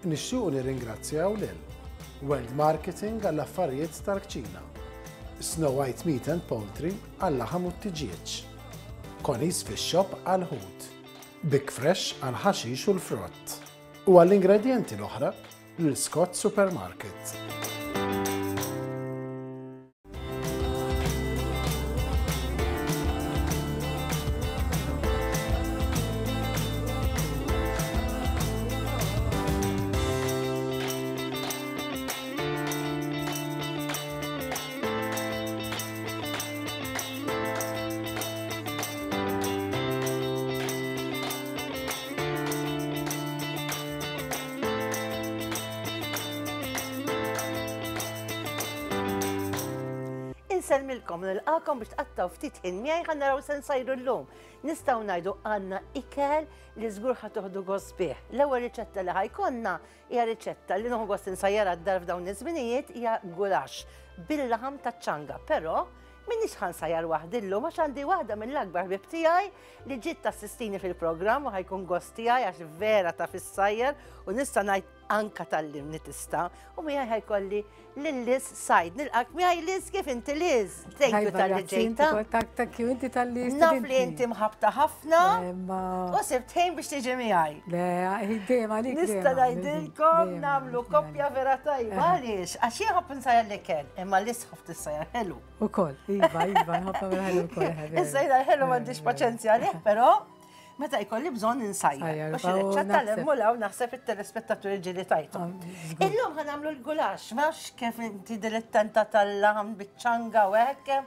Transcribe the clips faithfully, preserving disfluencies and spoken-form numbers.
Nixtiequ nirringrazzjaw lil World Marketing għall-affarijiet tal-kċina, Snow White Meat and Poultry għall-laħam u t-tiġieġ, Connie's Fish Shop għall-ħut, Big Fresh għall-ħaxix u l-frott, u għall-ingredienti l-oħra lil Scott Supermarket. Insellmilkom nilqakom biex tqattaw ftit ħin miegħi ħa naraw se nsajru llum. Nistgħu ngħidu għandna ikel li żgur ħa toħdu gost bih. L-ewwel riċetta li ħajkonna hija riċetta li nieħu gost insajjarha d-dar f'dawn iż-żminijiet hija gulax bil-laħam taċ-ċanga, però minix ħa nsajjar waħdi llum għax għandi waħda mill-akbar ħbieb tiegħi li ġiet tassistini fil-programm u ħajkun gost tiegħi għax vera ta' fis-sajjar u nista' ngħid anka tal-limni tista' u miegħi ħajkolli lil Liz Said. Nilqak miegħi Liz, kif inti Liz? Thank you tal-li ġejta. Thank you inti tal-li. Naf li inti mħabta ħafna u sibt ħin biex tiġi miegħi. Le, dejjem għalik. Nista' ngħidilkom nagħmlu koppja vera tajba għaliex għax jien ħobb insajjar l-ikel, imma Liz ħobb tissajjar ħelu. Ukoll, iva, iva, nħobb nagħmel ħelu wkoll. Issa jiena l-ħelu m'għandix paċenzja għalih, però meta jkolli bżonn insajjar. Għax il-riċetta l-emmulaw naħseb it-telespettaturi ġieli tajtu. Illum ħa nagħmlu l-gulax, m'għafx kif inti dilettanta tal-laħam biċ-ċanga u hekk.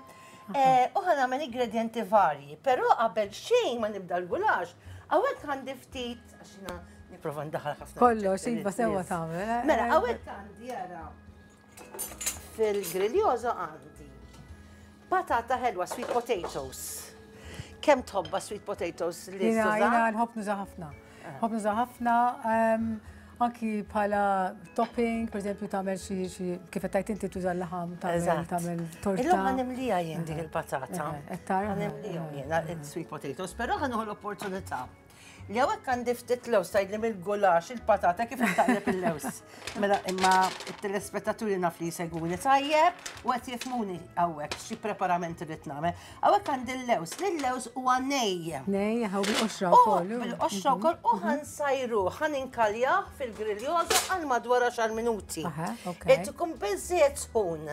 U ħa nagħmel ingredienti varji, però qabel xejn ma nibda l-gulax, hawnhekk għandi ftit għax jiena nipprova ndaħħal ħafna. Kollox, iva sewwa tagħmel. Mela, hawnhekk għandi ara fil-griljosa għandi patata ħelwa, sweet potatoes. Kemm tħobba sweet potatoes li Jiena jiena nħobb nuża ħafna. Nħobb nuża ħafna anki bħala topping, per eżempju tagħmel xi kif qed tgħid inti tuża l-laħam tagħmel tagħmel torta. Illum ħa nimlija jien dik il-patata. Ħa nimlija jiena sweet potatoes, però ħa nieħu l-opportunità. Li hawnhekk għandi ftit lews tgħidli mill-gulax il-patata kif taqleb il-lews. Mela imma t-telespettaturi naf li jsegwuni tajjeb u qed jifhmuni hawnhekk xi preparament irid nagħmel. Hawnhekk għandi l-lews, l-lews huwa nej. Nej, ħaw bil-qoxra wkoll. Bil-qoxra wkoll u ħa nsajruh, ħa ninkaljah fil-griljosa għal madwar għaxar minuti. Qed ikun biżżejjed sħun.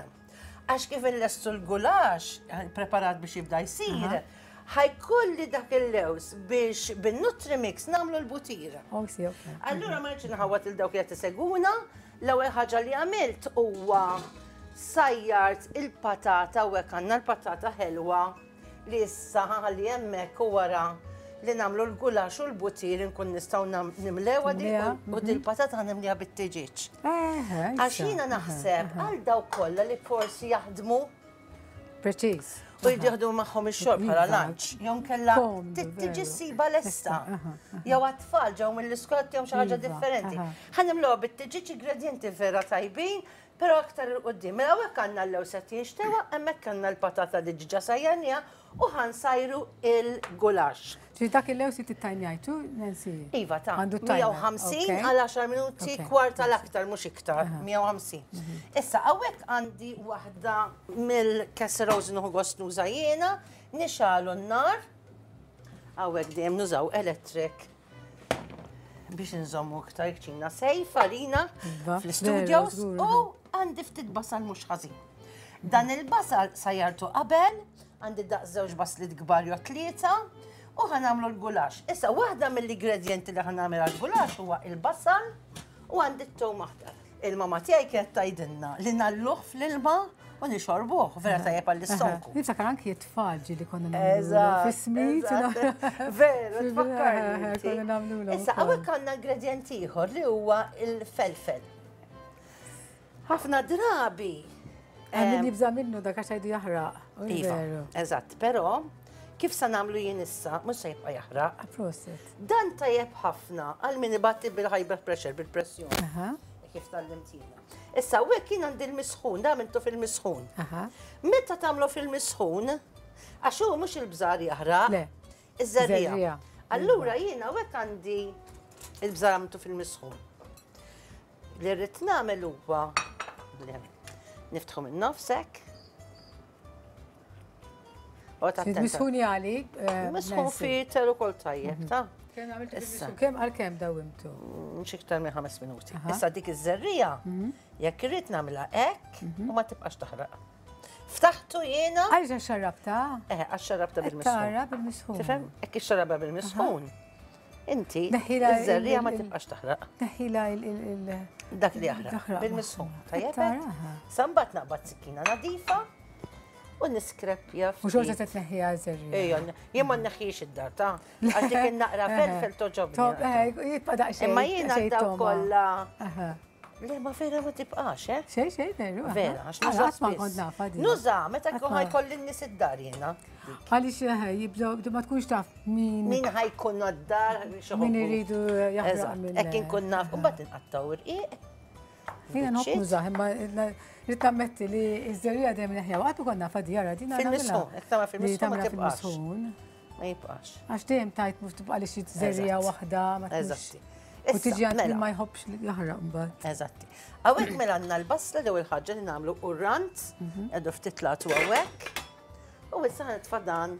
Għax kif illestu l-gulax, preparat biex jibda jsir, ħajkolli dak il-lews biex bin-Nutrimix nagħmlu l-butira. Allura ma rridx nħawwad il dawk li qed isegwuna, l-ewwel ħaġa li għamilt huwa sajjart il-patata u hekk għandna l-patata ħelwa li issa ħalli hemmhekk u wara li nagħmlu l-gulax u l-butir nkun nistgħu nimlewha di u dil-patata nimliha bit-tiġieġ. Għax jiena naħseb għal dawk kollha li forsi jaħdmu Preċiż. U jieħdu magħhom ix-xorb bħala lunch. Jew kella tiġi ssiba lesta. Jew għat-tfal ġew mill-iskola tihom xi ħaġa differenti. Ħa nimluha bit-tiġieġ ingredienti vera tajbin, però aktar 'il quddiem. Mela hawnhekk għandna l-lews qed jinxtewa, hemmhekk għandna l-patata li ġa sajjarniha u ħa nsajru il-gulax. Ġi dak il-lews tittajmjajtu, Nancy? Iva, ta' mija u ħamsin għal għaxar minuti, kwarta l-aktar, mhux iktar, mija u ħamsin. Issa, hawnhekk għandi waħda mill-casseroles nieħu gost nuża jiena, nixalu n-nar, hawnhekk dejjem nużaw electric biex nżommu iktar kċina sejf għalina fl-studios u għandi ftit basal mhux ħażin. Dan il-basal sajjartu qabel, għandi daqs żewġ baslit kbar jew tlieta, u ħa nagħmlu l-gulax. Issa, waħda mill-ingredienti li ħa nagħmel għall-gulax huwa il-basal u għandi t-tewm aħdar. Il-mama tiegħi kienet tgħidilna li nalluh fl-ilma u nixorbuh, vera tajjeb għall-istonku. Niftakar anki t-tfal ġieli konna nagħmlu fis-smit. Veru, tfakkarni. Issa, hawnhekk għandna ingredient ieħor li huwa il-felfel. Ħafna drabi. Għamil jibża minnu dak għax jgħidu jaħraq. Iva, eżatt, però kif sa nagħmlu jien issa, mhux se jibqa' jaħraq. Prosit. Dan tajjeb ħafna għal min ibatti bil-high blood pressure, bil-pressjoni. Kif tallimtina. Issa, u hekk jien għandi l-misħun, da għamiltu fil-misħun. Meta tagħmlu fil-misħun, għax hu mhux il-bżar jaħraq, iż-żerriegħa. Allura jiena hekk għandi il-bżar għamiltu fil-misħun. Li rrid nagħmel huwa niftħu minn nofsek. Misħun jali. Misħun fiter ukoll tajjeb, ta' Kemm għal kemm dawimtu? Mhux iktar minn ħames minuti. Issa dik iż-żerrija, jekk irrid nagħmilha hekk u ma tibqax taħraq. Ftaħtu jiena. Għaliex xarrabta? Eh, għax xarrabta bil-misħun. Tara bil-misħun. Tifhem? Hekk ixxarrabha bil-misħun. Inti, iż-żerrija ma tibqax taħraq. Neħħila il- Dak li jaħraq. Bil-misħun. Tajjeb? Sambat naqbad sikkina nadifa u niskreppja. U xorta tneħħiha ż-żerrija. Ejja, jien ma nneħħiex id-dar ta' għax dik in-naqra felfel toġobni. Jibqa' daqsxejn. Imma jiena daw kollha. Le, ma vera ma tibqax, eh? Xejn, xejn, veru. Vera, għax nuża. Qatt ma kont nafha din. Nuża, meta jkun ħajkolli n-nies id-dar jiena. Għaliex jibdew ma tkunx taf min. Min ħajkun għad-dar, min iridu jaħraq minn. Hekk inkun naf, u mbagħad inqattgħu irqiq. Jiena nħobb nużah, imma rrid nammetti li ż-żerrija dejjem neħja waqt ukoll nafha di ara din Fil-misħun, hekk tagħmel fil-misħun ma tibqax. Ma jibqax. Għax dejjem tajt mhux tibqa' li xi żerrija waħda ma tkunx. U tiġi għand min ma jħobbx jaħraq mbagħad. Eżatti. Hawnhekk mela għandna l-basla l-ewwel ħaġa li nagħmlu u r-rant, qegħdu ftit latu hawnhekk. U issa nitfa' dan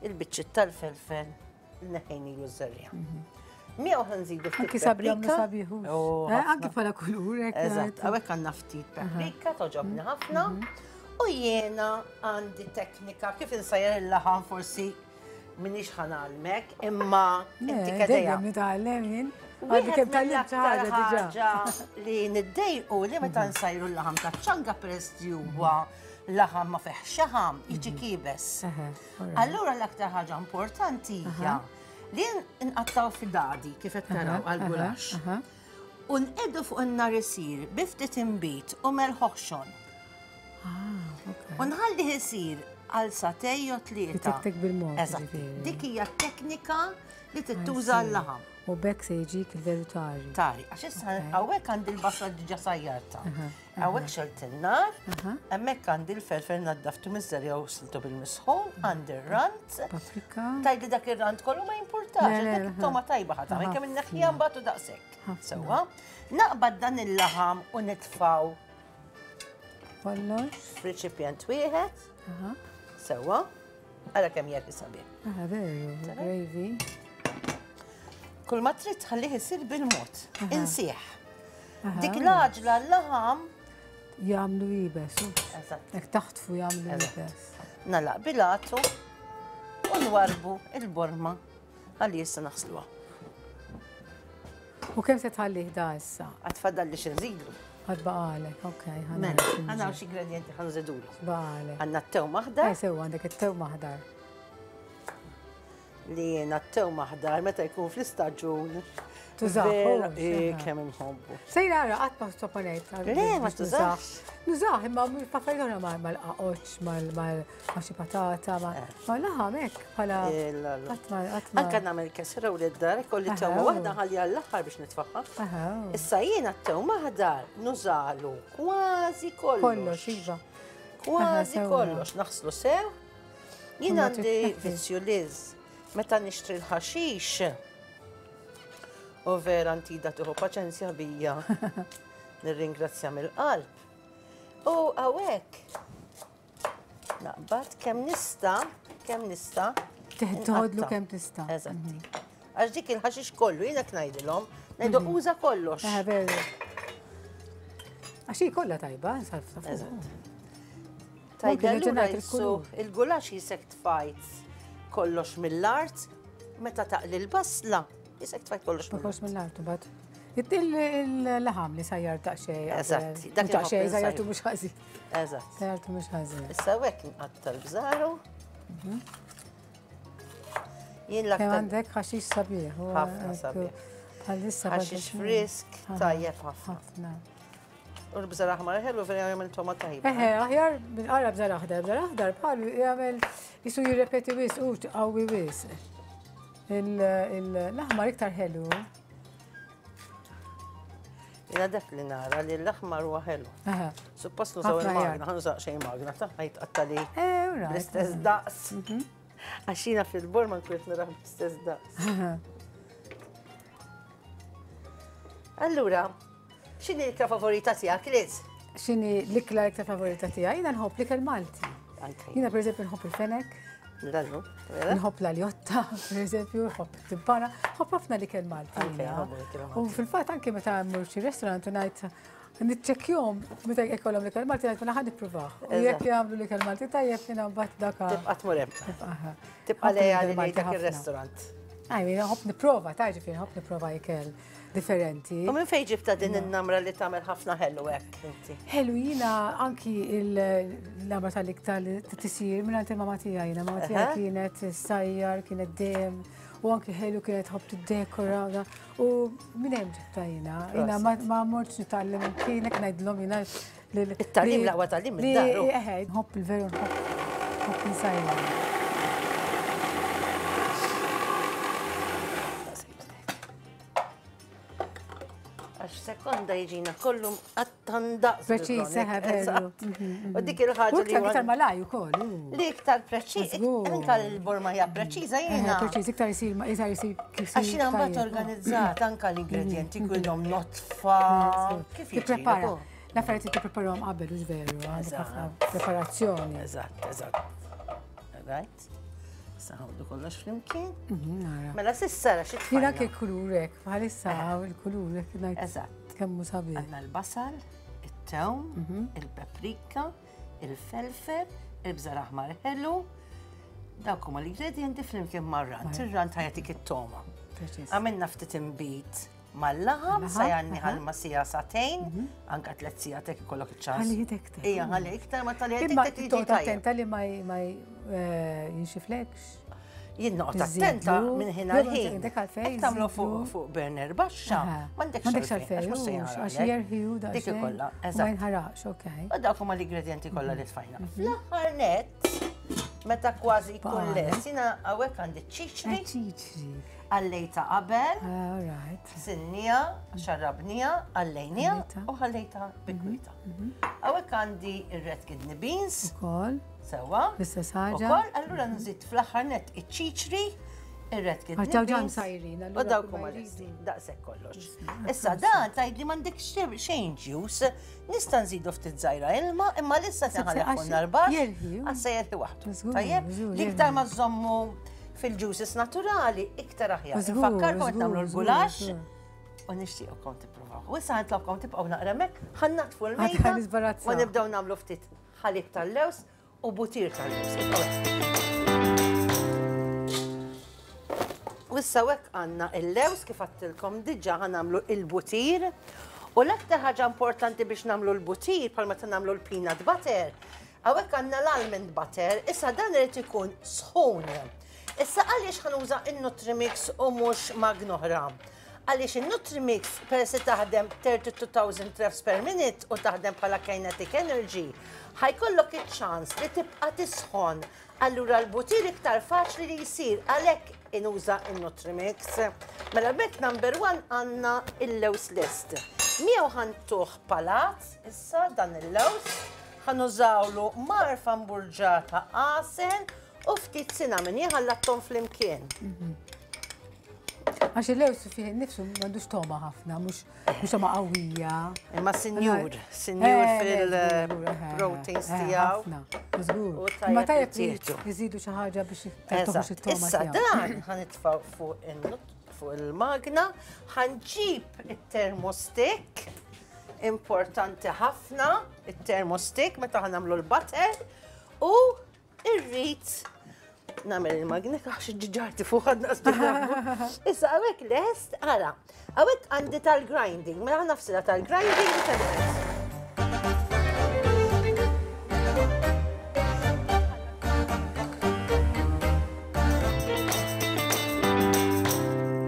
il-biċċiet tal-felfel li neħejnilu ż-żerrija. Miegħu ħa nżidu ftit. Anki sabri għamlu sabiħu. Anki bħala kulur hekk. Eżatt, hawnhekk għandna ftit paprika, toġobni ħafna. U jiena għandi teknika kif insajjar il-laħam forsi minix ħanalmek, imma inti kedeja. Dejjem nitgħallem jien. Għaddi kemm tgħallimt xi ħaġa diġà. Li niddejqu li meta nsajru l-laħam taċ-ċanga peress li huwa laħam ma fih xaħam jiġi kiebes. Allura l-aktar ħaġa importanti hija li nqattaw fidadi kif qed taraw għall-gulax. U nqegħdu fuq in-nar isir bi ftit inbid u melħ oħxon. U nħallih isir għal satej jew tlieta. Tiktik bil-mod. Eżatt. Dik hija t-teknika li tittuża l-laħam. U bekk se jiġik il-veru tari. Tari, għax issa hawnhekk għandi l-basla diġà sajjarta. Hawnhekk xelt in-nar, hemmhekk għandi l-felfel naddaftu miż-żerja u siltu bil-misħun, għandi r-rant. Paprika. Tajdi dak ir-rant kollu ma jimpurtax, dak it-toma tajba ħadd tagħmel kemm inneħħiha mbagħad u daqshekk. Sewwa. Naqbad dan il-laħam u nitfgħu. Kollox. F'riċipjent wieħed. Sewwa. Ara kemm jekk sabiħ. Aha, veru, gravy. Kull ma trid tħallih isir bil-mod, insieħ. Dik l-għaġla l-laħam jagħmlu jibes. Eżatt. Hekk taħtfu jagħmlu jibes. Nalaq bilatu u nwarbu il-borma għalli issa naħsluha. U kemm se tħallih da issa? Għad fadal li xi nżidu. Għad baqalek, okej. Mela, għandna xi ingredienti ħa nżidulu. Baqalek. Għandna t-tewm aħdar. Eh, sew għandek it-tewm aħdar. Li jiena t-tewm aħdar meta jkun fl-istaġun. Tużax. Kemm inħobbu. Sejra ara qatt ma stopponejt. Le, ma tużax. Nużax, imma affarijiet oħra mal-qaqoċ, ma' xi patata, ma' laħam hekk bħala. Anke nagħmel kesra u lid-dar ikolli tewma waħda ħalli għall-aħħar biex nitfaħħa. Issa jiena t-tewm aħdar nużalu kważi kollox. Kollox, iva. Kważi kollox, naħslu sew. Jien għandi vizzju liż. Meta nixtri l-ħaxix, u vera ntida tieħu paċenzja bija, nirringrazzja mill-qalb. U hawnhekk naqbad kemm nista', kemm nista'. Teħodlu kemm tista'. Eżatt. Għax dik il-ħaxix kollu jiena ngħidilhom, ngħidu uża kollox. Veru. Għax hi kollha tajba, nsarf. Eżatt. Tajba allura il-gulax jisek tfajt kollox mill-art, meta taqli l-basla, jisek tfajt kollox mill-art. Mill-art, u bat. Il-laħam li sajjar daqsxejn. Eżatt. Dak daqsxejn sajjartu mhux ħażin. Eżatt. Sajjartu mhux ħażin. Issa hekk nqatta' l-bżaru. Jien l-aktar. Għandek ħaxix sabiħ. Ħafna sabiħ. Bħalissa ħaxix frisk, tajjeb ħafna. U l-bżar aħmar ħelu vera jagħmel toma tajba. Eħe, aħjar minn qara bżar aħdar, bżar aħdar bħalu jagħmel jisu jirrepeti wis u qawwi wis. L-aħmar iktar ħelu. Jiena dak li nara li l-aħmar huwa ħelu. Suppost nużaw il-magna, ħa nużaw xejn magna, ta' ħajtqatta' li bl-istess daqs. Għax jiena fil-borma nkun qed naraha bl-istess daqs. Allura, X'inhi l-ikla favorita tiegħek, Liz? X'inhi l-ikla l-iktar favorita tiegħi? Jiena nħobb l-ikel Malti. Jiena pereżempju nħobb il-fenek. Nħobb l-aljotta, pereżempju, nħobb it-timpana, nħobb ħafna l-ikel Malti. U fil-fatt anke meta mmur xi restaurant u ngħid niċċekkjahom meta jkollhom l-ikel Malti ngħid mela ħa nippruvah. U jekk jagħmlu l-ikel Malti tajjeb jiena mbagħad daka. Tibqa' tmur hemm. Tibqa' lejali lejn dak ir-restaurant. Għaj, nħobb nipprova, ta' ġifieri nħobb nipprova ikel differenti. U minn fejn ġibta din in-namra li tagħmel ħafna ħelu hekk inti? Ħelu jiena anki il-namra tal-iktar tisir minn għand il-mama tiegħi jiena. Mama tiegħi kienet sajjar, kienet dejjem, u anki ħelu kienet tħobb tiddekora. U minn hemm ġibta jiena. Jiena ma mortx nitgħallem kienek ngħidlhom jiena. It-tagħlim l-aqwa tagħlim mid-dar. Eħe, nħobb il-veru nħobb insajjar. Sekonda jiġina kollu għattanda. Preċiż, eħe, veru. U dik il-ħaġa li. Iktar malaj ukoll. Li iktar preċiż, anka l-borma hija preċiża jiena. Preċiż, iktar isir, iktar isir kif. Għax jiena mbagħad organizzat anka l-ingredjenti kullhom notfa. Kif tipprepara? L-affarijiet tippreparahom qabel, hux veru, għandek ħafna preparazzjoni. Eżatt, eżatt. Right. Saħawdu kollox flimkien. Mela s'issa ra xi tfajna. Jiena anke l-kulur hekk, bħalissa il-kulur hekk ngħid. Eżatt. Kemm hu sabiħ. Għandna l-basal, it-tewm, il-paprika, il-felfel, il-bżar aħmar ħelu. Dawk huma l-ingredienti flimkien mar-rant. Ir-rant ħajatik it-toma. Għamilna ftit inbid mal-laħam, sajanni ħalma sija satejn, anka tliet sigħat hekk ikollok iċ-ċans. Ħalli iktar. Ija, ħalli iktar ma tal iktar tiġi tajjeb. Attenta li ma jinxiflekx. Jien noqgħod attenta minn ħin għal ħin. Tagħmlu fuq burner baxxa, m'għandekx għalfejn, għax jerħiju daqsxejn. Dik ikollha, eżatt. Ma jinħaraqx, okej. U dawk huma l-ingredjenti kollha li tfajna. Fl-aħħar nett, meta kważi jkun lest, jiena hawnhekk għandi ċiċri. Ċiċri. Għallejta qabel. All right. Sinnija, xarrabnija, għallejnija u ħallejta bikwieta. Hawnhekk għandi ir-red kidney beans. Ukoll. Sewa. L-istess ħaġa. Ukoll, allura nżid fl-aħħar nett iċ-ċiċri, ir-red kidney beans. Għax dawn sajrin. U dawk huma lesti, daqshekk kollox. Issa dan tgħidli m'għandek xejn ġuice, nista' nżidu ftit żgħira ilma, imma lissa tinħalli fuq nar baxx. Għassa jerħi waħdu. Tajjeb, l-iktar ma żommu fil-juices naturali, iktar aħjar. Nfakkarkom qed nagħmlu l-gulax u nixtieqkom tippruvaw. U issa ħantlobkom tibqgħu naqra hemmhekk, ħa natfu l-mejda u nibdew nagħmlu ftit ħalib tal-lews u butir tal-lews. U issa hekk għandna il-lews kif għattilkom diġà ħa nagħmlu il-butir. U l-aktar ħaġa importanti biex nagħmlu l-butir bħalma ta' nagħmlu l-peanut butter. Hawnhekk għandna l-almond butter, issa dan irid ikun sħun. Issa għaliex ħa nuża il-Nutrimix u mhux magna oħra? Għaliex il-Nutrimix peress li taħdem thirty-two thousand revs per minute u taħdem bħala kinetic energy, ħajkollok iċ-ċans li tibqa' tisħon. Allura l-butir iktar faċli li jsir għalhekk inuża il-Nutrimix. Mela b'hekk number one għandna il-lews list. Miegħu ħantuh palat, issa dan il-lews, ħanużawlu marfa mburġata għasel u ftit cinnamon, jħallattom flimkien. Għax il-lews fih innifsu m'għandux toma ħafna, mhux toma qawwija. Imma sinjur, sinjur fil-proteins tiegħu. Żgur. Imma tajjeb li jżidu xi ħaġa biex toħroġ it-toma. Issa dan ħa nitfgħu fuq il-magna, ħanġib it-thermostick, importanti ħafna, it-thermostick meta ħa nagħmlu l-butter u irrid nagħmel il-magna għax ġiġarti fuq għadna qasdu. Issa hawnhekk lest, ara, hawnhekk għandi tal-grinding, mela ħa nafsilha tal-grinding u tal-lest.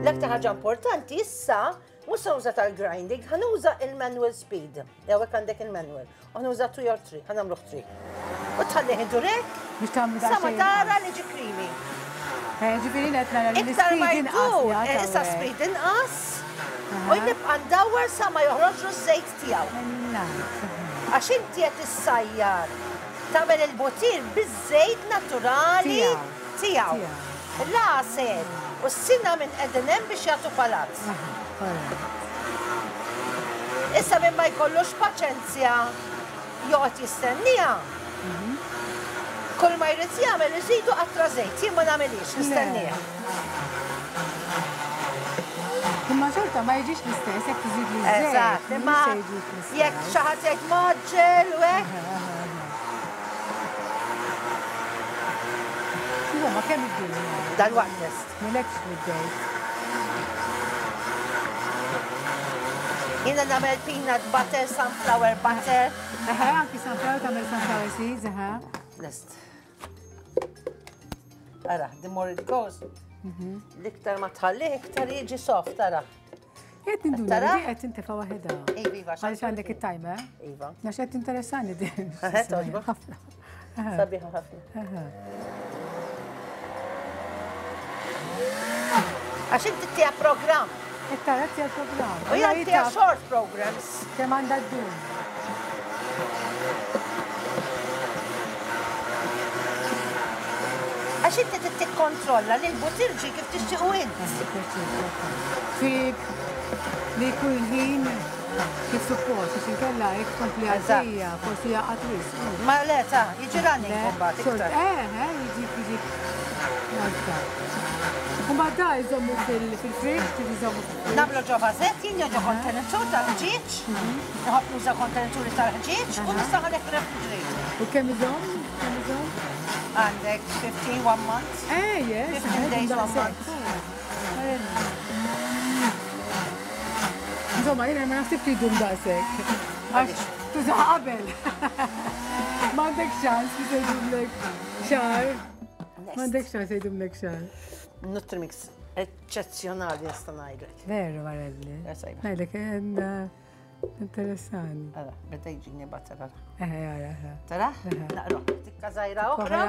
L-aktar ħaġa importanti issa mhux se nuża tal-grinding, ħa nuża il-manual speed. Hawnhekk għandek il-manual. U ħa nuża two or three, ħa nagħmluh three. U tħallih idur hekk. Biex tagħmlu Sa ma tara li ġi creamy. Eh, ġifieri qed nara li Iktar ma l-speed inqas. jdur, issa speed inqas. U nibqa' ndawwar sa ma joħroġlu ż-żejt tiegħu. Għax inti qed issajjar tagħmel il-butir biż-żejt naturali tiegħu. L-għasel u s-cinnamon qegħdin hemm biex jagħtu palazz. Issa minn ma jkollux paċenzja joqgħod jistennija. Kull ma jrid jagħmel iżidu qatra żejt, jien ma nagħmilix, nistennija. Imma xorta ma jiġix l-istess jekk tiżid l-żejt. Eżatt, imma jekk xi ħadd jgħid maġġel u hekk. Ma kemm iddum? Dal-waqt lest. Milekx mid-dejt. Jiena nagħmel peanut butter, sunflower butter. Eħe, anki sunflower tagħmel sunflower seeds, eħe. Lest. Ara, the more it goes, l-iktar ma tħallih, iktar jiġi soft, ara. Qed ninduna li qed tintefa' waħedha. Iva, għaliex għandek it-timer? Iva. Għax qed interessani din. Eħe, togħġbok. Ħafna. Sabiħa ħafna. Għax inti tija program. It-tara tija program. U jgħid tija short programs. Kemm għandha ddum. Għax inti trid tikkontrolla li l-butir ġie kif tixtiequ int. Fik li jkun il-ħin kif suppost, għax inkella jekk tkompli għaddejja, forsi jaqgħad wisq. Ma le ta' jiġi running imbagħad iktar. Eh, eh, jiġik jiġik. U ma da jżommu fil-fridge, kif jżommu fil-fridge? Nagħmlu ġo vażett, jien jew ġo kontenitur tal-ħġieġ, nħobb nuża kontenituri tal-ħġieġ u nista' ħalih fil-refrigerator. U kemm iżomm? Kemm iżomm? Għandek fifteen one month. Eh, yes. fifteen days one month. Insomma, jiena ma naħsibx li jdum daqshekk. Għax tuża qabel. M'għandek ċans li se jdumlek xahar. M'għandek ċans se jdumlek xahar. Nutrimix eċċezzjonali nista' ngħidlek. Veru, Marelli. Ngħidlek, interessanti. Ara, beda jiġini butter ara. Eħe, ara, eħe. Tara? Naqra, tikka żgħira oħra.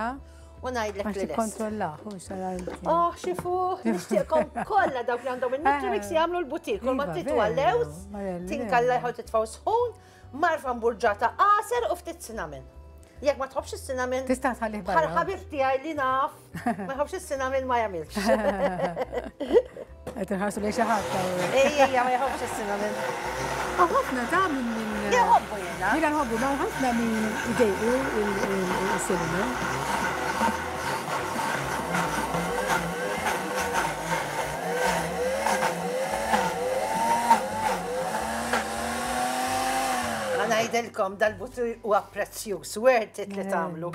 U ngħidlek li lest. Tikkontrollah, u xara inti. Oh, xifu, nixtieqkom kollha dawk li għandhom il-Nutrimix jagħmlu l-butir. Kull ma tridu għal-lews, tinkalla jħol titfgħu sħun, marfa mburġata għaser u ftit cinnamon. Jekk ma tħobbx is-cinnamon. Tista' tħallih barra. Bħal ħabib tiegħi li naf, ma jħobbx is-cinnamon ma jagħmilx. Qed inħarsu lejn xi ħadd. Ejja, ejja, ma jħobbx is-cinnamon. Ħafna ta' minn minn. Jħobbu jiena. Jiena nħobbu, ma ħafna minn idejqu il-cinnamon. Ngħidilkom dal-butir huwa prezzjuż, worth it li tagħmlu.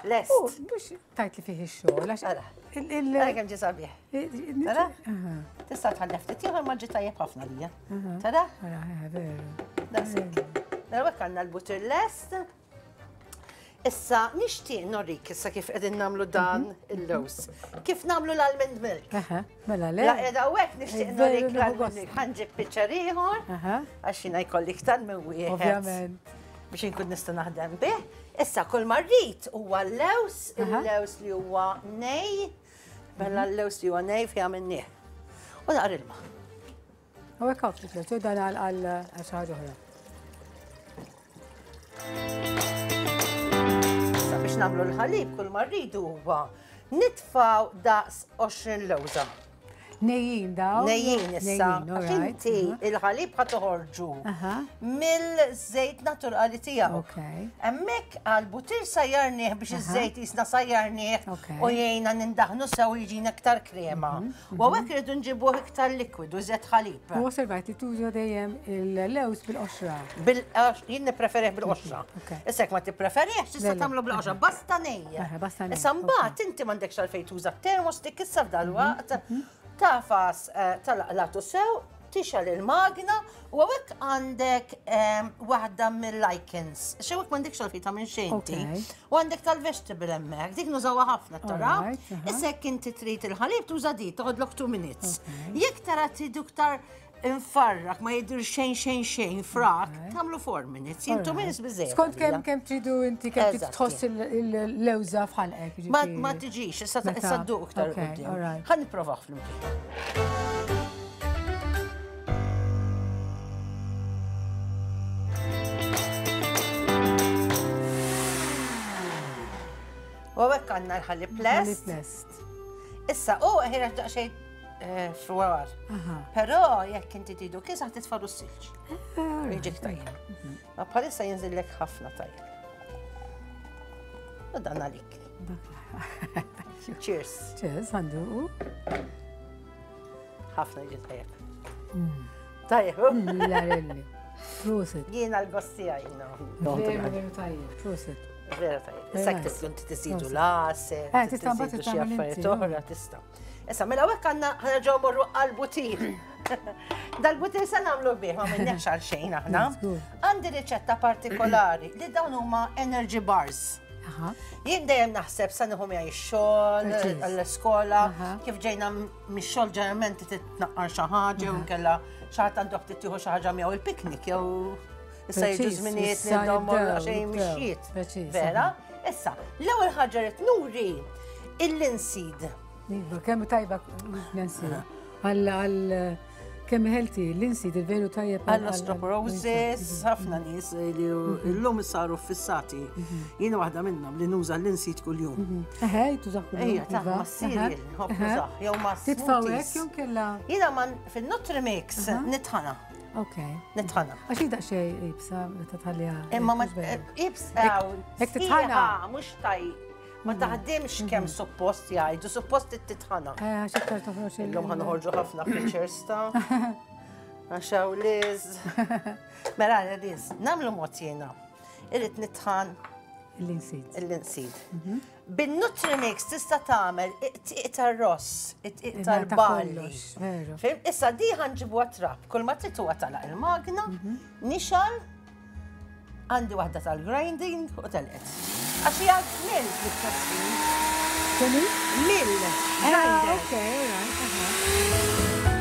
Lest. Mhux tajt li fih ix-xogħol għax. Ara kemm ġie sabiħ. Tara? Tista' tħalli ftit ieħor ma ġie tajjeb ħafna lija. Tara? Ara, veru. Daqshekk. Mela hekk għandna l-butir lest. Issa nixtieq norik issa kif qegħdin nagħmlu dan il-lewż. Kif nagħmlu l-almond milk. Mela le. La qiegħda hawnhekk nixtieq norik l-almond milk. Ħa nġib pitcher ieħor għax jiena jkolli iktar minn wieħed. Ovvjament. Biex inkun nista' naħdem bih. Issa kull ma rrid huwa l-lewż, il-lewż li huwa nej, mela l-lewż li huwa nej fiha minnih. U naqra ilma. U hekk hawn ftit dan għal xi ħaġa oħra. Biex nagħmlu l-ħalib kull ma rridu huwa nitfgħu daqs għoxrin lewża. Nejjin daw. Nejjin issa. Għax inti il-ħalib ħa toħorġu mill-żejt naturali tiegħu. Hemmhekk għall-butir sajjarnih biex iż-żejt jisna sajjarnih u jgħinna nindaħnu sew jiġina iktar krema. U hawnhekk irridu nġibuh iktar likwidu, żejt ħalib. U osservajt li tuża dejjem il-lewż bil-qoxra. Jien nippreferih bil-qoxra. Issa jekk ma tippreferihx tista' tagħmlu bil-qoxra, basta nejja. Issa mbagħad inti m'għandekx għalfejn tuża termostik issa f'dal-waqt. Tafas tal-laqlatu sew, tixgħal il-magna u hawnhekk għandek waħda mill-lichens. Xewek m'għandekx għalfejn ta' minn xejn inti. U għandek tal-vegetable hemmhekk, dik nużawha ħafna tara. Issa jekk inti trid il-ħalib tuża di, toħodlok two minutes. Jekk tara tridu iktar infarrak, ma jidir xejn xejn xejn frak, tagħmlu four minutes, jien two minutes biżejjed. Skont kemm kemm tridu inti kemm tħoss il-lewża f'ħalqek. Ma tiġix, issa dduq iktar quddiem. Ħa nipprovaw flimkien. U hekk għandna l-ħalib lest. Issa, u ħireġ daqsxejn fwar. Però jekk inti tridu kiesaħ titfalu s-silġ. Jiġik tajjeb. Ma bħalissa jinżillek ħafna tajjeb. U dan għalik. Cheers. Cheers, għandu. Ħafna jiġi tajjeb. Tajjeb. Larelli. Prosit. Jiena l-gost tiegħi. Veru, veru tajjeb. Prosit. Vera tajjeb. Issa jekk inti tiżidu l-għasel, tista' tiżidu xi affarijiet oħra tista'. Issa mela hawnhekk għandna ħa nerġgħu mmorru għall-butir. Dal-butir se nagħmlu bih, ma minnex għal xejn aħna. Għandi riċetta partikolari li dawn huma energy bars. Jien dejjem naħseb sa nieħu miegħi x-xogħol, għall-iskola, kif ġejna mix-xogħol ġeneralment titnaqqar xi ħaġa jew inkella xi ħadd għandu ftit tieħu xi ħaġa miegħu il-piknik jew issa jiġu żminijiet li nibdew mmorru xejn mixjiet. Vera? Issa, l-ewwel ħaġa rid nuri il-linseed. Iva, kemm tajba Nancy. Għal għal kemm healthy, l-linseed il-veru tajjeb. Għall-osteoporosis, ħafna nies li llum saru fissati. Jiena waħda minnhom li nuża l-linseed kuljum. Eħe, tuża kuljum. Ejja, ta' ma' cereal, nħobb nużah, jew ma' Titfgħu hekk jew kellha. Jiena ma fin-Nutrimix nitħana. Ok. Nitħana. Għax hi daqsxejn iebsa meta tħalliha. Imma ma iebsa Hekk titħana. Mhux taj. Ma taħdimx kemm suppost jgħidu, suppost titħana. Eh, għax iktar toħroġ il- Illum ħa noħorġu ħafna pictures ta' Għax hawn Liz. Mela, Liz, nagħmlu mod jiena. Irrid nitħan Il-linseed. Il-linseed. Bin-Nutrimix tista' tagħmel it-tqiq tar-ross, it-tqiq Iva, ta' tal-barley. kollox, veru. Fim? Issa di ħa nġibuha trab, kull ma trid huwa tagħlaq il-magna, nixgħel, għandi waħda tal-grinding u telqet. Għax hija mill fl-istess ħin. Kemm hi? Mill. Ah, Grinder. ok, all right, aha.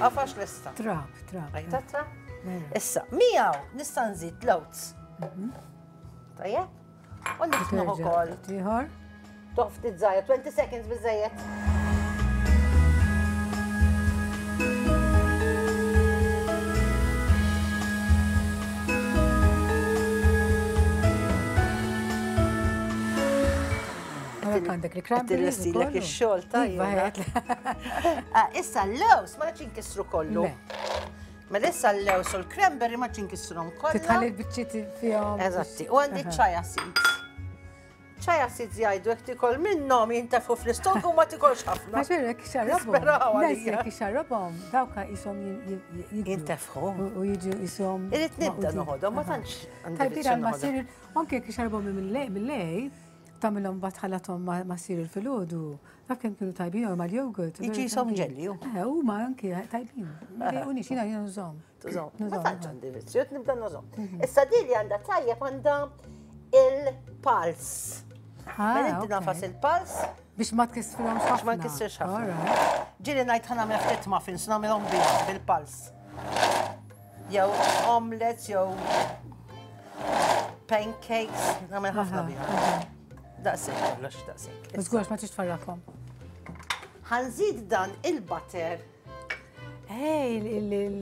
Għafax lesta. Trab, trab. Rajta trab? Vera. Issa, miegħu nista' nżid l-oats. Tajjeb? U nitnuħ ukoll. Ieħor. Toqf ftit żgħir, twenty seconds biżejjed. Għalhekk għandek il-cranberries Qed illestilek ukoll. ix-xogħol tajjeb. Iva, għed. Ah, issa l-lews ma ċinkissru kollu. Le. Mela issa l-lews u l-cranberry ma ċinkissruhom kollha. Titħalli l-biċċiet fihom. Eżatti. U għandi chia seeds. Chia seeds jgħidu jekk tikol minnhom jintefu fl-istonku u ma tikolx ħafna. Għax vera, jekk ixarrabhom. Nisperaw Nies għalija. jekk ixarrabhom, dawka qishom jikbru. Jintefħu. U jiġu qishom Irrid nibda maqudin. noħodhom, ma tantx għandi Tajbin bżonn għal ma noħodhom. cereal, anke jekk ixarrabhom mill-lejl, tagħmilhom mbagħad tħallathom ma' cereal filgħodu. Taf kemm kienu tajbin jew mal-yogurt. Jiġi jisom ġelli, hu. Eh, huma anke tajbin. Uni xina jiena nużhom. Tużhom. Ma Nużhom, tantx għandi vizzju, qed nibda nużhom. Issa din li għandha tajjeb għandha il-pals. Ah, Mela inti ok. nafas il-pals. Biex ma tkissrilhomx ħafna. Biex ma nkissirx ħafna. All right. Ġieli ngħid ħa nagħmel ftit muffins, nagħmilhom biha bil-pals. Jew omelets, jew pancakes, nagħmel ħafna biha. Daqshekk kollox, daqshekk. Żgur ma tix tfarrakhom. Ħa nżid dan il-butter. Ej,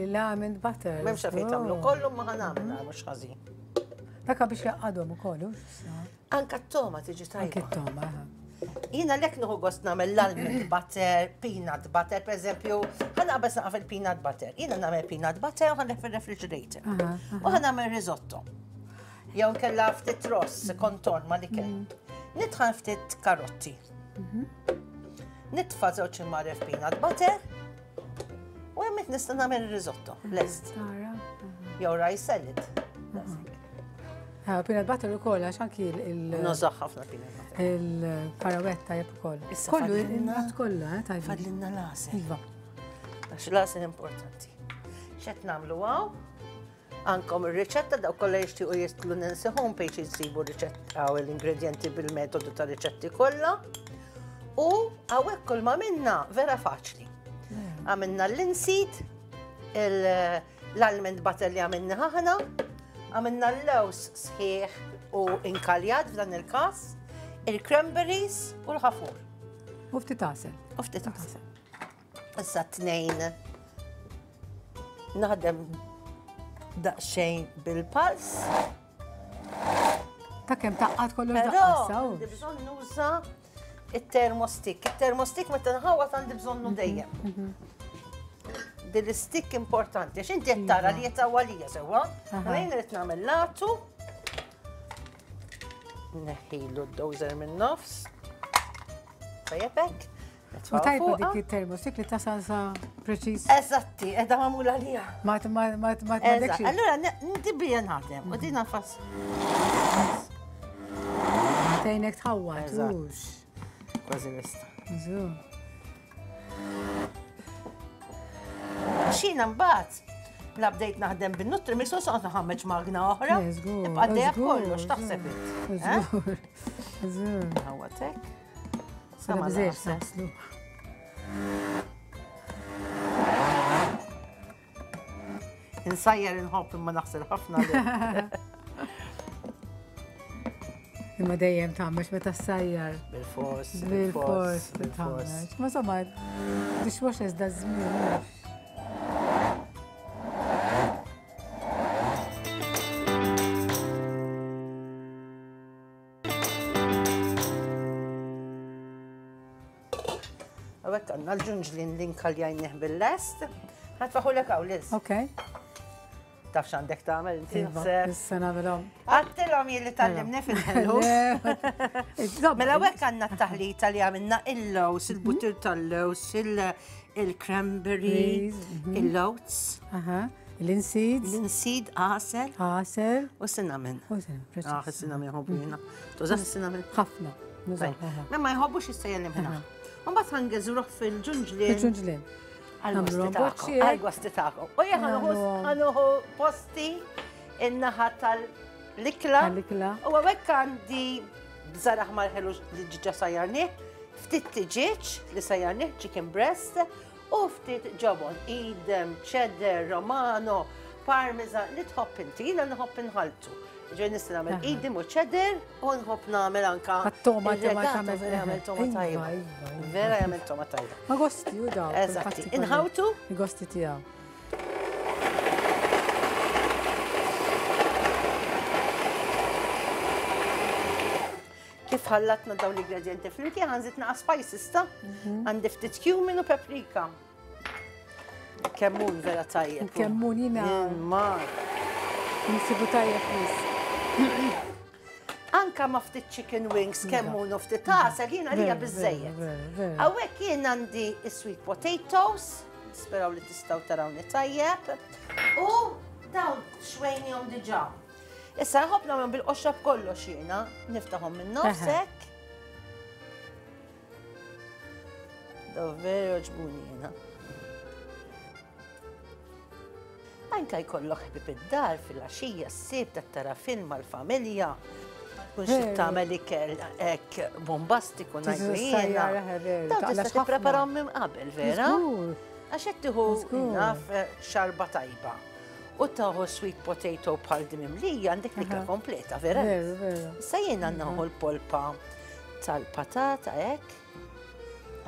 l-almond butter. M'hemmx fejn tagħmlu kollu ma ħa nagħmel mhux ħażin. Dakka biex jaqadhom ukoll, hux? Anka t-toma tiġi tajba. Anke t-toma, aha. Jiena lek nieħu gost nagħmel l-almond butter, peanut butter, per eżempju, ħa naqbeż naqaf il-peanut butter. Jiena nagħmel peanut butter u ħa fil-refrigerator. U ħa nagħmel risotto. Jew kella ftit ross, kontorn ma l-ikel. Nitħan ftit karotti. Nitfa' żewġ imgħaref peanut butter. U hemmhekk nista' nagħmel risotto, lest. Tara. Jew rice salad. Ah, peanut butter ukoll għax anki il- Nużah ħafna peanut butter. il-karawetta tajjeb ukoll. Issa Kollu, fadlilna- il-nat kollha, eh, tajbin. Fadlilna l-għasel. Iva. Għax l-għasel importanti. X'qed nagħmlu hawn? Għandkom ir-riċetta daw kollha jixtiequ jistlu Nancy homepage jsibu riċetta u l-ingredienti bil-metodu ta' riċetti kollha. U hawnhekk kull ma minna vera faċli. Għamilna l-linseed, l-almond butter li għamilna aħna, Għamilna l-lewż sħiħ u inkaljat f'dan il-każ, il-cranberries u l-ħafur. U ftit għasel. U ftit għasel. Issa tnejn naħdem daqsxejn bil-pals. Ta' kemm taqqat kollox Però daqqas. għandi bżonn nuża it-termostik. Il-termostik meta nħawat għandi bżonnu dejjem. Din l-istik importanti, għax inti qed tara li jitawalija sewwa. Mela jien irid nagħmel latu. Neħħilu d-dozer minn nofs. Tajjeb hekk. U tajba dik il-termostik li tasal sa preċiż. Eżatti, edha magħmula lija. Ma ma ma ma Eżatt. Allura ndibija naħdem u din nafas. Tgħinek tħawwad. Eżatt. Kważi lesta. Xina mbagħad la bdejt naħdem bin-Nutrimix u soqgħod nħammeġ magna oħra. Ibqa' dejja kollox taħseb int. Żgur. Żgur. Ħawwatek. Sama naslu. Insajjar inħobb imma naħsel ħafna. Imma dejjem tagħmel meta ssajjar. Bil-fors, bil-fors, bil-fors. Ma somma, dishwashers da żmien. Għawek għanna l-ġunġlin li nkaljajnih bil-lest. Ħatfaħu l għaw, Liz. Ok. Taf x'għandek tagħmel inti naħseb. Issa nagħmelhom. Għattilhom jien li tallimni fil-ħelu. Mela hekk għandna t-taħlita li għamilna il-lows, il-butir tal-lows, il-cranberry, il-oats. L-inseed. L-inseed, għasel. Għasel. U cinnamon. U cinnamon. Ah, cinnamon jħobbu jiena. Tużax cinnamon? Ħafna. Ma jħobbux jissejjen imħna. Mbagħad ħangeżruh fil-ġunġlien. Fil-ġunġlien. Għal-gosti tagħkom. U jien ħanuħu posti in-naħa tal-ikla. U hawnhekk għandi bżar aħmar ħelu li ġiġa sajjarnih, ftit tiġieġ li sajjarnih, chicken breast, u ftit ġobon, idem, cheddar, romano, parmesan, li tħobb inti, jiena nħobb inħaltu. Ġej nista' nagħmel idem u cheddar u nħobb nagħmel anka. Toma tagħmel jagħmel toma tajba. Vera jagħmel toma tajba. Ma gosti u daw. Eżatti. Inħawtu? Gosti tiegħu. Kif ħallatna dawn l-ingredienti flimkien ħanżid naqa' spices ta' għandi ftit cumin u paprika. Kemmun vera tajjeb. Kemmun jiena. Ma. Nsibu tajjeb nis. Anka ma ftit chicken wings, kemmun u ftit għasel, jiena lija biżżejjed. Hawnhekk jien għandi sweet potatoes, speraw li tistgħu tarawni tajjeb, u dawn xwejnihom diġà. Issa nħobb nagħmel bil-qoxra b'kollox jiena, niftaħhom minn nofsek. Daw veru ġbuni jiena. Anka jkollok ħbib id-dar fil-għaxija, s-sib tara film mal-familja. Kun xi tagħmel ikel hekk bombastiku ngħidu jiena. Dawn tista' tippreparahom minn qabel, vera? Għax qed tieħu naf xarba tajba. U taħu sweet potato bħal din mimlija għandek l-ikla kompleta, vera? Issa jiena naħu l-polpa tal-patata hekk.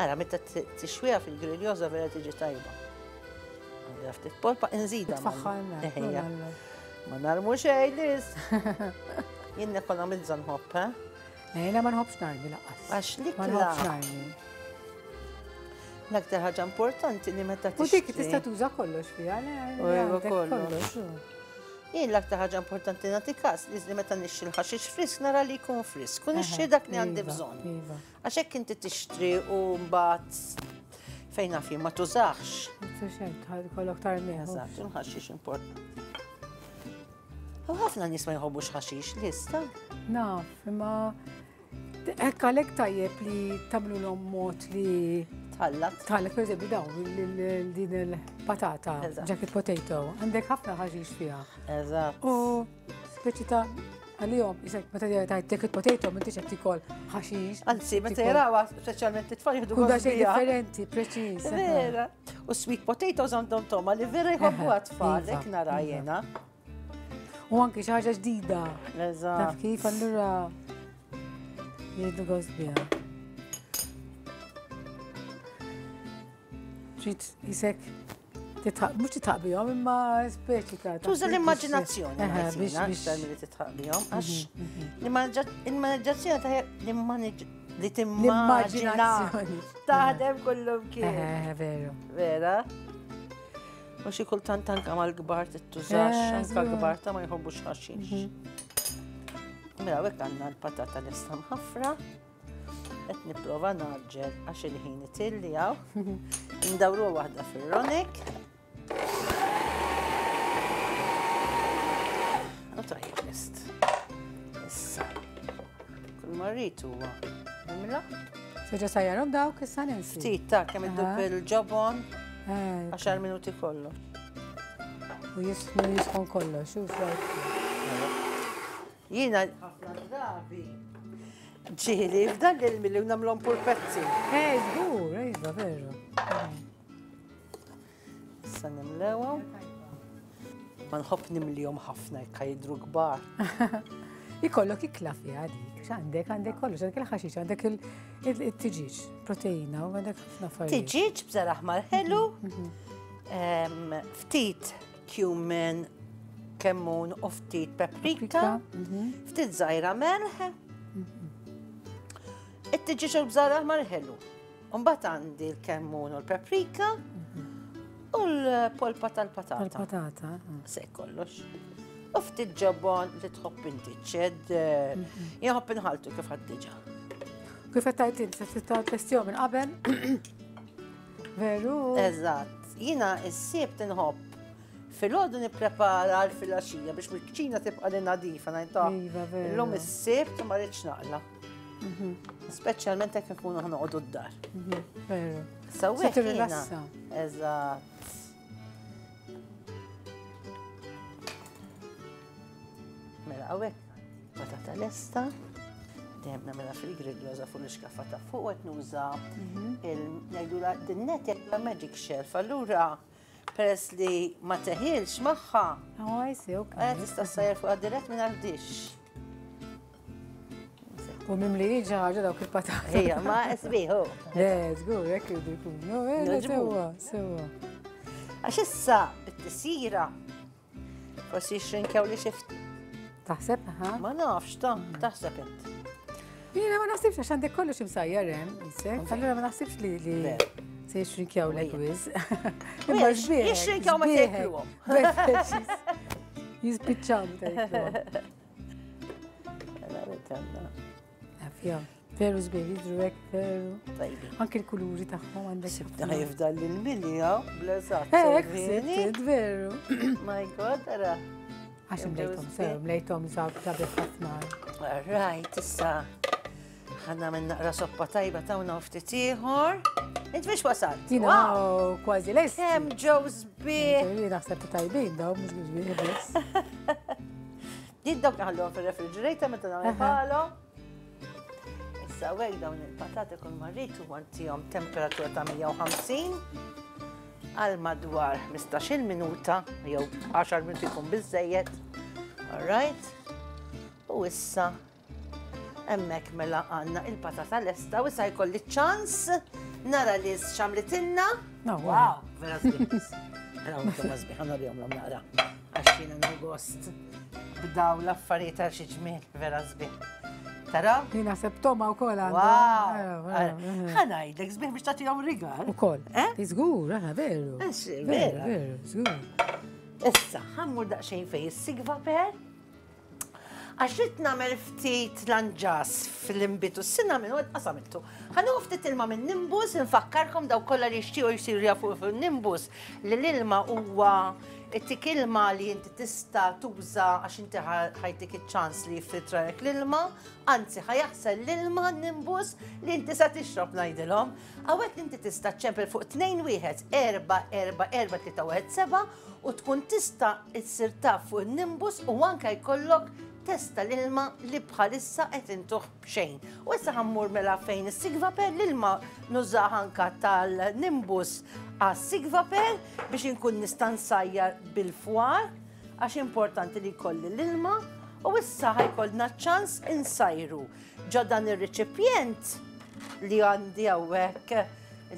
Ara, meta tixwiha fil-griljosa vera tiġi tajba. Ftit polpa nżida. Ma narmu xejn, Liz. Jien nekonomizza nħobb, eh? Jiena ma nħobbx narmi lanqas. Għax l-ikla. Ma nħobbx narmi. L-aktar ħaġa importanti li meta tixtri. U dik tista' tuża kollox fiha, le? Kollox. Jien l-aktar ħaġa importanti nagħti każ li meta nixxi l-ħaxix frisk nara li jkun frisk, u nixxi dak li għandi bżonn. Għax hekk inti tixtri u mbagħad fejn naf ma tużax. Kollok tarmi. Eżatt, il-ħaxix importanti. U ħafna nies ma jħobbux ħaxix, lista. Naf, imma hekk għalhekk tajjeb li tagħmluhom mod li tħallat. Tħallat, pereżempju dawn din il-patata, jacket potato, għandek ħafna ħaxix fiha. Eżatt. U speċi ta' għalihom, isek, meta tajt jacket potato, m'intix qed tikol ħaxix. Anzi, meta jarawha, speċjalment it-tfal jieħdu gost xejn differenti, preċiż. Vera. U sweet potatoes għandhom toma li vera jħobbu għat-tfal, hekk nara jiena. U anki xi ħaġa ġdida. Eżatt. Taf kif allura jieħdu gost biha. Trid isek titħaq, mhux titħaq bihom imma speċi ta' Tuża l-immaġinazzjoni, Eħe, biex biex biex milli titħaq bihom, għax l-immaġinazzjoni ta' l-immaġ- li timmaġina L-immaġinazzjoni. taħdem kullum kien. Eħe, veru. Vera? U xi kultant anka mal-kbar tittużax, Eh, anka żgur. kbar ta' ma jħobbux ħaxix. Mela hekk għandna l-patata lesta mħaffra. Qed nipprova naġġel għax il-ħin itilli hawn. Ndawruha waħda fir-ronek. U tajjeb lest. Issa. Kull ma rrid huwa nimla. Seġa sajjarhom dawk issa Nancy. Ftit ta' kemm iddub Aha. il-ġobon, Eh, għaxar minuti kollu. U jisħon jisħon kollox, u flajt. Jiena ħafna drabi ġieli f'dan il-milli u nagħmlhom purpezzi. Eh, żgur, iva, veru. Issa nimlewhom. Ma nħobb nimlihom ħafna jekk jidhru kbar. Ikollok ikla fiha dik, x'għandek, għandek kollox, għandek il-ħaxix, għandek il-tiġiġ, proteina, u għandek ħafna affarijiet. Tiġiġ bżar aħmar ħelu, em, ftit cumin, kemmun u ftit paprika, ftit żgħira melħ. It-tiġiġ u bżar aħmar ħelu. Mbagħad għandi l-kemmun u l-paprika u l-polpa tal-patata. Tal-patata. ah. Se kollox. U ftit ġobon li tħobb inti ċed, jien ħobb inħaltu kif ħaddiġa. Kif qed tgħid inti, se testjom minn qabel? Veru? Eżatt. Jiena s-sibt inħobb filgħodu nipprepara għal filgħaxija biex mill-kċina tibqa' li nadifa ngħid Iva, veru. Illum is-sibt u ma rridx naqla. Speċjalment jekk nkunu ħanoqogħdu d-dar. Veru. Sewwa Se tirrilassa. Eżatt. Mela hawnhekk patata lesta. Dejjem nagħmilha fil-grill juża fuq l-iskaffa ta' fuq qed nuża il ngħidula din-net jekk magic shelf. Allura peress li ma teħilx magħha, Oh, I see, okay. eh, tista' ssajjar fuqha dirett mingħajr dix. U mimli ħaġa dawk il-patata. Ejja, ma sbieħu. Le, żgur, hekk jridu jkunu. Eh, le, Jogħġbu. Sewwa, sewwa. Għax issa bit-tisira forsi xrinkew li xi ftit. Taħseb, ha? Ma nafx, ta' taħseb int. Jiena ma naħsibx għax għandek kollox imsajjar hemm, isek. Allura ma naħsibx li li Veru. se jixrinkjaw lek wiz. Imma sbieħ. Jixrinkjaw ma tiekluhom. Jispiċċaw meta jiekluhom. Mela, ritenna. Naf, ja. Veru sbieħ, jidru hekk, veru. Tajbi. Anki l-kuluri tagħhom għandek. Sibta jifdal l-milja, bleżat. Hekk, sibt, veru. My God, ara. Għax imlejthom sew, imlejthom sabiħ ħafna. Right, issa. Ħanna minn naqra soppa tajba tawna u ftit ieħor. Int biex wasalt? Jina Wow! kważi lest. Kemm ġew sbieħ. Jien naħseb ta' tajbin daw, mhux sbieħ biss. Din dawk naħalluhom fir-refrigerator meta nagħmel Aha. bħalhom. Issa hawnhekk dawn il-patati kull ma rrid huwa ntihom temperatura ta' mija u ħamsin għal madwar ħmistax-il minuta jew għaxar minuti jkun biżżejjed. All right. U issa hemmhekk mela għandna il-patata lesta u issa jkolli ċans nara li x'għamlitilna. No, Wow, vera sbieħ. Vera kemm sbieħ ħa norihom naqra. Għax jiena nieħu gost b'daw l-affarijiet għal xi ġmiel vera sbieħ. Tara? Jien naħseb toma wkoll għandha. Wow! Ħa ngħidlek sbieħ biex tagħtihom rigal. Ukoll. Eh? Żgur, aħna veru. Għax, Veru, vera. veru, żgur. Issa, ħa mmur daqsxejn fejn is-sigva per. Għax rrid nagħmel ftit lanġas fil-imbitu s-sina minn għad qasamiltu. Ħa nieħu ftit ilma minn Nimbus, infakkarkom daw kollha li jixtiequ jsiru jafu fuq Nimbus li l-ilma huwa it-tik ilma li inti tista' tuża għax inti ħajtik iċ-ċans li jiffiltralek l-ilma, anzi ħajaħsel l-ilma Nimbus li inti sa tixrob ngħidilhom. Hawnhekk inti tista' ċempel fuq tnejn wieħed erba' erba' erba' tlieta wieħed seba' u tkun tista' issir taf fuq in-Nimbus u anke jkollok testa l-ilma li bħalissa qed intuħ b'xejn. U issa ħammur mela fejn is-sigva per l-ilma nużah anka tal-Nimbus għas-sigva per biex inkun nista' nsajjar bil-fwar. Għax importanti li jkolli l-ilma u issa ħa jkollna ċans insajru. Ġo dan ir-reċipjent li għandi hawnhekk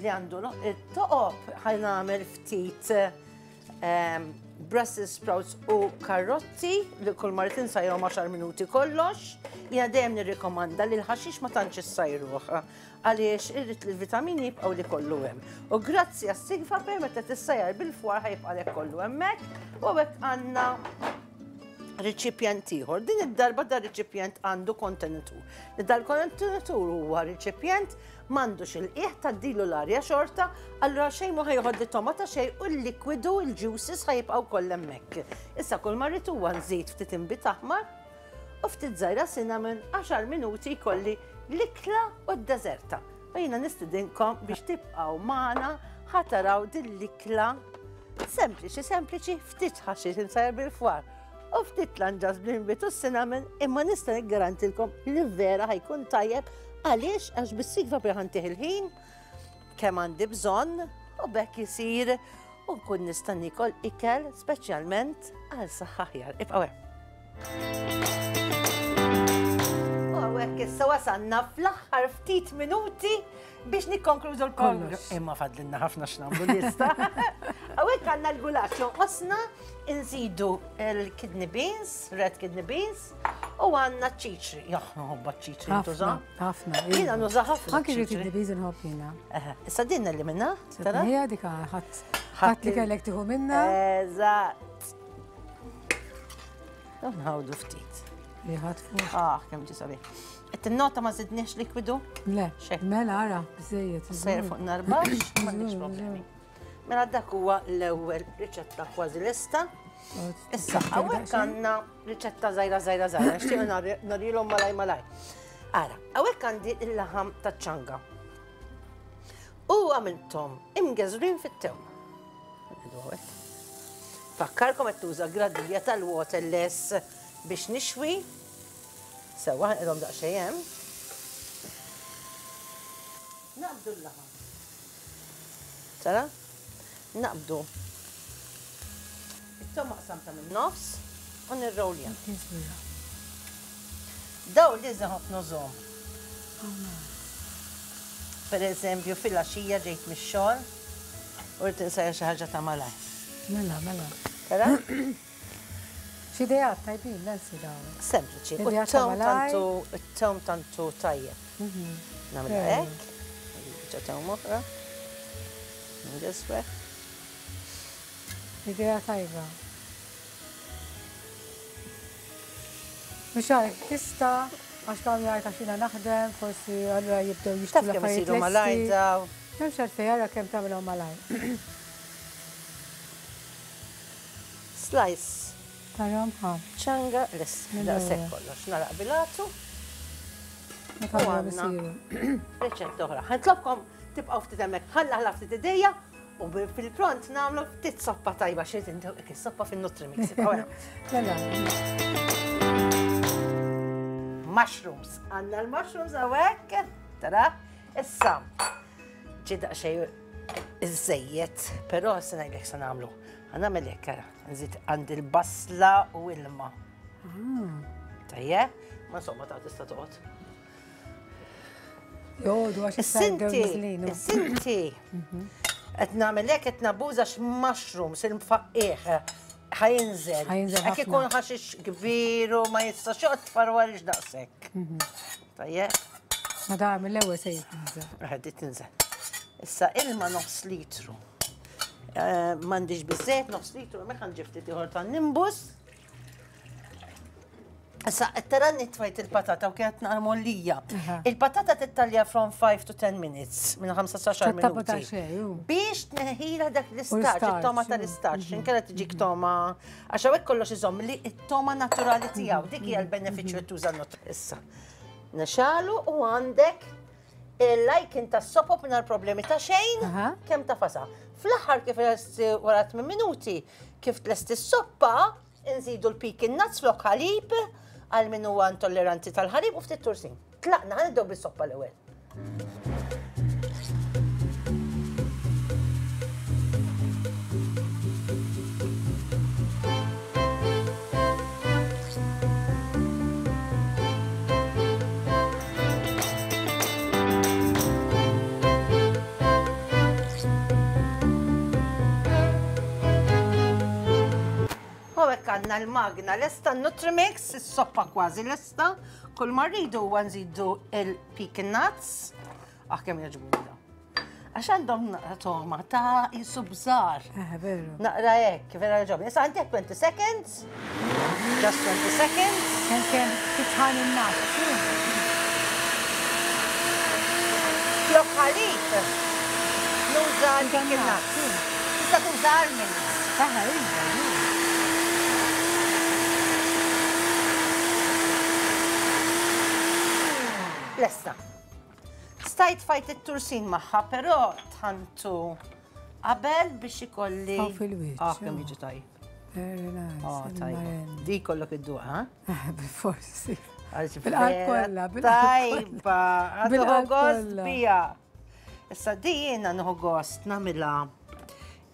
li għandu it-toqob ħa nagħmel ftit ehm, Brussels sprouts u karrotti li kull ma rrid insajrhom għaxar minuti kollox. Jiena dejjem nirrikomanda li l-ħaxix ma tantx issajruh għaliex irrid li l-vitamini jibqgħu li kollu hemm. U grazzi għas-silfa per meta tissajjar bil-fwar ħa jibqalek kollu hemmhekk u hekk għandna reċipjent ieħor. Din id-darba dar reċipjent għandu kontenitur. Dal-kontenitur huwa reċipjent m'għandux il-qiegħ tgħaddilu l-arja xorta, allura xejn ma ħa joħodli togħma ta' xejn u l-likwidu, il-juices ħa jibqgħu kollha hemmhekk. Issa kull ma rrid huwa nżid ftit inbid aħmar u ftit żgħira cinnamon, għaxar minuti jkolli l-ikla u d-deżerta. U jiena nistidinkom biex tibqgħu magħna ħa taraw din l-ikla sempliċi, sempliċi, ftit ħaxix imsajjar bil-fwar u ftit lanġas bl-inbid u cinnamon, imma nista' niggarantilkom li vera ħa jkun tajjeb. Għaliex? Għax bis-silva ħa ntih il-ħin kemm għandi bżonn u bekk isir u nkun nista' nikol ikel speċjalment għal saħħa aħjar. Ibqgħu hemm. U hawnhekk issa wasalna fl-aħħar ftit minuti biex nikkonkludu l-kollox. Kollox. Imma fadlinna ħafna x'nagħmlu lista. Hawnhekk għandna l-gulax, jonqosna nżidu l-kidney beans, red kidney beans, u għandna ċiċri. Jaħ, nħobba ċiċri ntuża. Ħafna, ħafna. Jiena nuża ħafna Anki rid ċiċri. kidney beans nħobb jiena. Eħe, issa din li minna, tara? Hija dik ħadd ħadd li kellek tieħu minna. Eżatt. Nħawdu ftit. Li ħadd fuq. Ah, kemm ġie sabiħ. Qed tinnota ma żidniex likwidu? Le, Xejn. mela ara, biżejjed. Sejr fuq narbax, m'għandix problemi. Mela dak huwa l-ewwel riċetta kważi lesta. Issa, hawnhekk għandna riċetta żgħira żgħira żgħira, nixtieq narilhom malaj malaj. Ara, hawnhekk għandi il-laħam taċ-ċanga. U għamilthom imgeżwrin fit-tewm. Fakkarkom qed tuża gradilja tal-waterless biex nixwi. Sewwa ħanqilhom daqsxejn hemm. Naqbdu l-laħam. Tara? Naqbdu. It-tewm maqsam ta' min-nofs u nirrowlja. Daw li nħobb nużahom. Per eżempju, fil-għaxija ġejt mix-xogħol u rrid insajjar xi ħaġa ta' malaj. Mela, mela. Tara? X'ideat tajbin, Nancy daw. Sempliċi. U Ideat ta' t-tewm malaj. tantu, it-tewm tantu tajjeb. Nagħmilha Veru. hekk. Biċċa tewm oħra. Nġeswe. Idea tajba. Mhux għalek tista', għax kaw jgħid għax jiena naħdem, forsi allura jibdew jixtru Taf kemm l-affarijiet isiru malajr lesti. daw. M'hemmx għalfejn ara kemm tagħmilhom malajr. Slice. Tarahom ħa. ċanga lest. Mela. Daqshekk kollox. Nagħlaq bil-għatu. Meta U għandna isiru. riċetta oħra. Ħa nitlobkom tibqgħu ftit hemmhekk, ħalla ftit idejja u fil-pront nagħmlu ftit soppa tajba xejn indew is-soppa fin-Nutrimix. Ibqgħu hemm. Mela. Mushrooms. Għandna l-mushrooms hawnhekk. Tara? Issa, ġie daqsxejn iżejjed, però se ngħidlek se nagħmlu. Ħa nagħmel hekk ara, nżid għandi l-basla u ilma. Tajjeb, ma insomma ta' tista' toqgħod. Joqogħdu għax issa jibdew Is-sinti, niżlin. is-sinti. Qed nagħmel hekk qed nabbuża mushrooms il-mfaqqieħ ħa jinżel. Ħa jinżel Hekk ħafna. ikun ħaxix kbir u ma jistax joqgħod tfarwarix daqshekk. Tajjeb, Ma da mill-ewwel se jinżel. ħaddi tinżel. Issa ilma nofs litru. Eh, M'għandix biżejjed nofs litru, hemmhekk għandi ftit ieħor tan-nimbus. Issa, tara nitfajt il-patata u kienet naqra mollija. Aha. Il-patata tittalja from five to ten minutes, minn ħamsa sa għaxar Tattaba ta' minuti. xejn, ju. Biex tneħħila dak l-istarċ, l-istarċ, it-toma ju. tal-istarċ, inkella tiġik toma, għax hawnhekk kollox iżomm li it-toma naturali tiegħu, dik hija l-benefiċċju li tuża n Issa, nixegħlu u għandek il-lajkin ta' sopop mingħajr problemi ta' xejn, Aha. kemm ta' fasa. Fl-aħħar kif lesti wara tmien minuti, kif tlesti s-soppa, nżidu l-pecan nuts flok ħalib, għal min huwa intolleranti tal-ħalib u ftit tursin. Tlaqna, ħa nibdew bis-soppa l-ewwel. għandna l-magna lesta, Nutrimix, is-soppa kważi lesta. Kull ma rridu huwa nżidu il-pecan nuts. Ah, kemm jogħġbuni da. Għax għandhom naqra togħma ta' jisu bżar. Eh, veru. Naqra hekk, vera jogħġobni. Issa għandek twenty seconds. Just twenty seconds. Kemm kemm titħan in-nuts. Flok ħalib. Nuża l-pecan nuts. Tista' tuża almonds. Aha, iva. Lesta. Stajt fajt it-tursin magħha, però tħantu qabel biex ikolli. Faw fil-wiċċ. Ah, kemm jiġi tajjeb. Very nice. Ah, tajjeb. Di kollok id-duqa, ha? Bil-forsi. Għax Bil-qalb vera kollha, bil-qalb Tajba, għadu Bil-qalb gost kollha. bija. Issa di jiena nieħu gost nagħmilha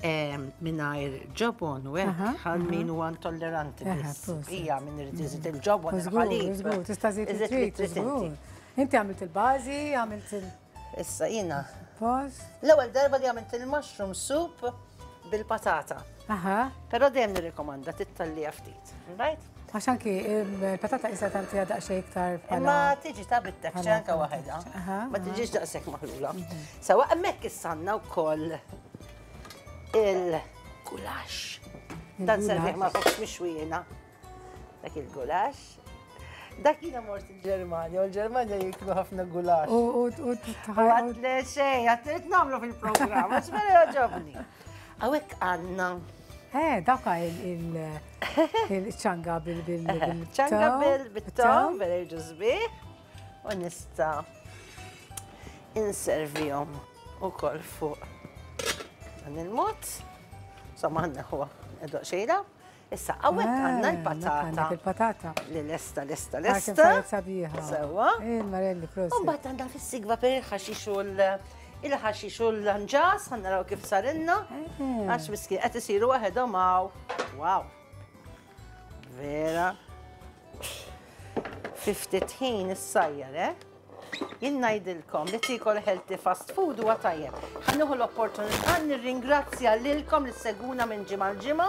mingħajr ġobon u hekk għal min huwa intolleranti Aha, biss. proset. Hija min irid iżid il-ġobon, Żgur, il-ħalib. żgur, tista' żid li Iżid li trid, trid żgur. inti. Inti għamilt il-bażi, għamilt Issa jiena. il-post. L-ewwel darba li għamilt il-mushroom soup bil-patata. Aha. Però dejjem nirrikomanda tittallija ftit. Right? Għax anki il-patata issa tagħtiha daqsxejn iktar bħala. Imma tiġi ta' bit-texture anke waħedha. Aha, Ma tiġix daqshekk maħlula. Sawa hemmhekk issa għandna wkoll il-gulax. Dan servih ma' ħobż mixwi jiena. Dak il-gulax. Dak jiena mort il-Ġermanja, u l-Ġermanja jiklu ħafna gulax. U u u U għadle xej, għadle nagħmlu fil-programm, għax vera jogħġobni. Hawnhekk għandna Eh, dawka il-ċanga bil bil bil ċanga bil bit-tom, vera jiġu sbieħ, u nista' inservihom ukoll fuq dan il-mod. Insomma, għandna huwa edoq xejra. Issa, hawnhekk għandna l-patata. Għandek il-patata. Li lesta, lesta, Kemm lesta. saret sabiħa. Sewwa. Il-marelli, prosit. U mbagħad għandna fis-sigwa per il-ħaxix u l- il-ħaxix u l-anġas, ħa naraw kif sarinna. Għax miskin qed isiru waħedhom hawn. Wow. Vera. Fi ftit ħin issajjar, eh? Jien ngħidilkom li tiekol healthy fast food huwa tajjeb. Ħa nieħu l-opportunità nirringrazzja lilkom li seguna minn ġimgħa l ġimgħa,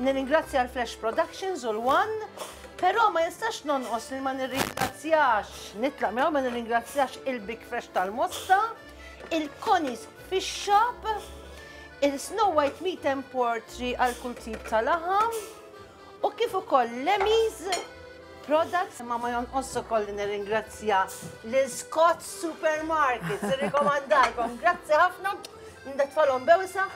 nirringrazzja l-Flash Productions u l-One, però ma jistax nonqos li ma nirringrazzjax, nitlaq miegħu ma nirringrazzjax il-Big Fresh tal-Mosta, il-Connie's Fish Shop, il-Snow White Meat and Poultry għal kull tip tal-laħam, u kif ukoll Lemmy's Products, ma ma jonqos ukoll li nirringrazzja lil Scott Supermarkets, nirrikomandalkom, grazzi ħafna, ndetfalhom bewsa.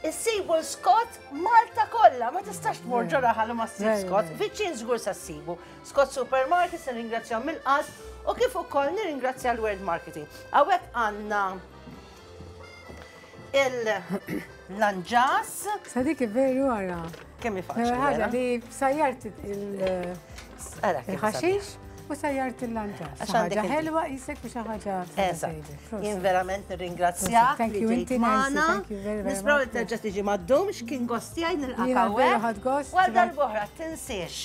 Issibu l-Scott Malta kollha, ma tistax tmur ġo raħal u ma ssib Veru, Scott. veru. Viċin żgur sa ssibu. Scott Supermarkets nirringrazzjahom mill-qalb u kif ukoll nirringrazzja l-World Marketing. Hawnhekk għandna il-lanġas. Sa dik veru ara. Kemm hi faċli, Ħaġa vera? li sajjart il- Ara kemm il-ħaxix u sajjart il-lanġas. Għax għandek Ħaġa inti. ħelwa qisek u xi ħaġa Eżatt. Jien verament nirringrazzjak Thank li you, ġejt inti, Nancy, magħna. thank you very, very Nisperaw li much. terġa' tiġi m'għaddumx, kien gost tiegħi nilqak Jiena veru hawnhekk. ħadt gost. U għal darb'oħra tinsiex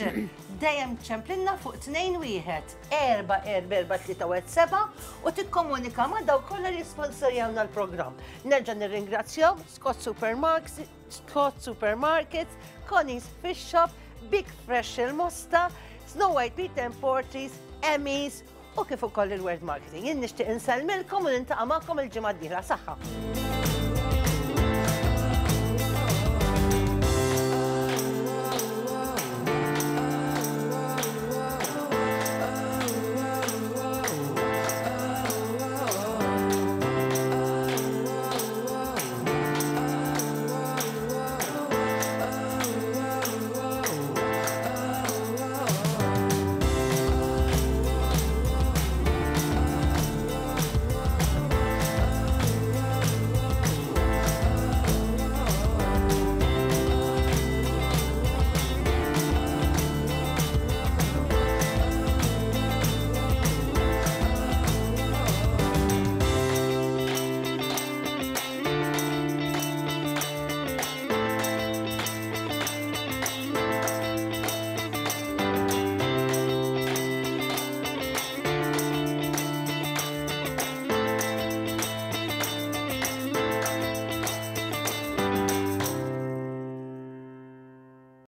dejjem ċemplinna fuq tnejn wieħed erba' erba' erba' tlieta wieħed seba' u tikkomunika ma' dawk kollha li sponsorjawna l-programm. Nerġa' nirringrazzjahom Scott Supermarkets, Scott Supermarkets, Connie's Fish Shop, Big Fresh il-Mosta, Snow White Meat and Poultries, Emmys u kif ukoll il-World Marketing. Jien nixtieq insellmilkom u niltaqa' magħkom il-ġimgħa d-dieħla. Saħħa.